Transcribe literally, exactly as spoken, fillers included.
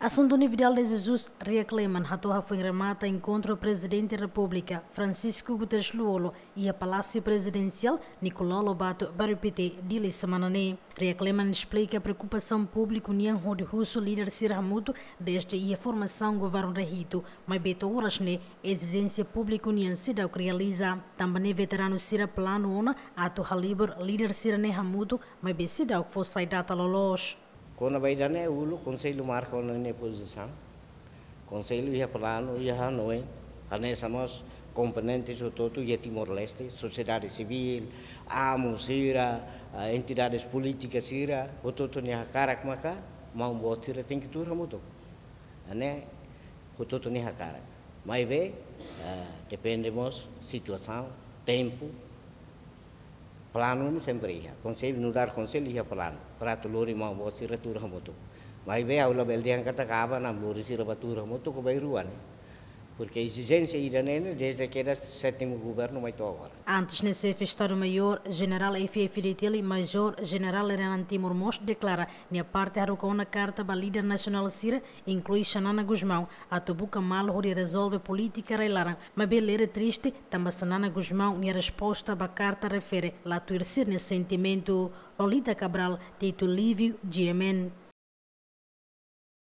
Assunto Nividal de Jesus Riak Leman hato'o hafoin remata enkontru Prezidente Repúblika Francisco Guterres Lú-Olo iha Palásiu Prezidensiál Nicolau Lobato, Bairru Pité, Dili, semana ne'e. Riak Leman esplika preokupasaun públiku nian hodi husu líder sira hamutuk dezde iha formasaun governu rehitu, maibé to'o oras ne'e ezijénsia públiku nian seidauk realiza. Tanba ne'e veteranu sira planu ona atu halibur líder sira ne'e hamutuk, maibé seidauk fó sai data loloos. Kona-ba ida-ne'e, uluk Konsellu marka ona nia pozisaun. Konsellu iha planu, iha hanoin, hanesan mós komponente hotu-hotu iha Timor-Leste, sosiedade sivíl, amu sira, ah, entidades polítikas sira, hotu-hotu nia hakarak maka maun-boot sira tenke tuur hamutuk. Ne'e hotu-hotu nia hakarak. Maibé, ah, depende mós situasaun, tempu, planu ne'e sempre iha. Konsellu, nu'udar konsellu iha planu para atu lori maun-boot sira tuur hamutuk. Maibé ha'u labele dehan katak aban-bainrua lori sira ba tuur hamutuk ka bainrua ne'e. Porque ezijénsia ida-ne'e ne'e dezde kedas sétimu governu mai to'o agora. Antes ne'e, Xefe Estadu-Maiór Jenerál F F D T L, Majór Jenerál Renan Timor mós deklara nia parte haruka ona karta ba líder nasionál sira, inklui Xanana Gusmão, atu buka malu hodi rezolve polítika rai-laran, maibé lere triste tanba Xanana Gusmão nia resposta ba karta refere la tuir sira-nia sentimentu. Lolita Cabral, Tito Lívio, G M N.